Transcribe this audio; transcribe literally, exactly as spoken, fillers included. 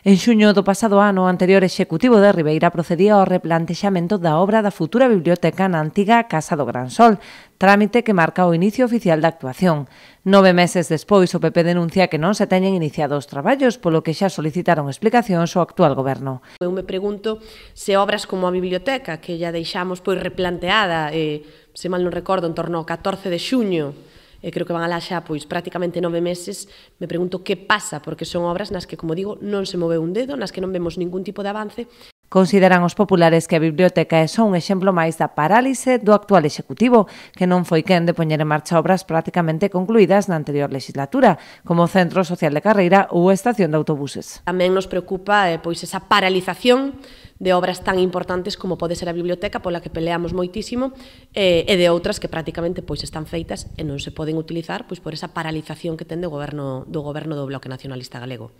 En xuño do pasado ano, o anterior executivo de Ribeira procedía ao replantexamento da obra da futura biblioteca na antiga Casa do Gran Sol, trámite que marca o inicio oficial da actuación. Nove meses despois, o P P denuncia que non se teñen iniciado os traballos, polo que xa solicitaron explicacións ao actual goberno. Eu me pregunto se obras como a biblioteca, que ya deixamos pois replanteada, eh, se mal non recordo, en torno ao catorce de xuño, e creo que van alá xa pois prácticamente nove meses, me pregunto que pasa, porque son obras nas que, como digo, non se moveu un dedo, nas que non vemos ningún tipo de avance. Consideran os populares que a biblioteca é só un exemplo máis da parálise do actual executivo, que non foi quen de poñer en marcha obras prácticamente concluídas na anterior legislatura, como o Centro Social de Carreira ou a estación de autobuses. Tamén nos preocupa eh, pois esa paralización de obras tan importantes como pode ser a biblioteca, pola que peleamos moitísimo, eh, e de outras que prácticamente pois están feitas e non se poden utilizar pois por esa paralización que ten do goberno do goberno do Bloque Nacionalista Galego.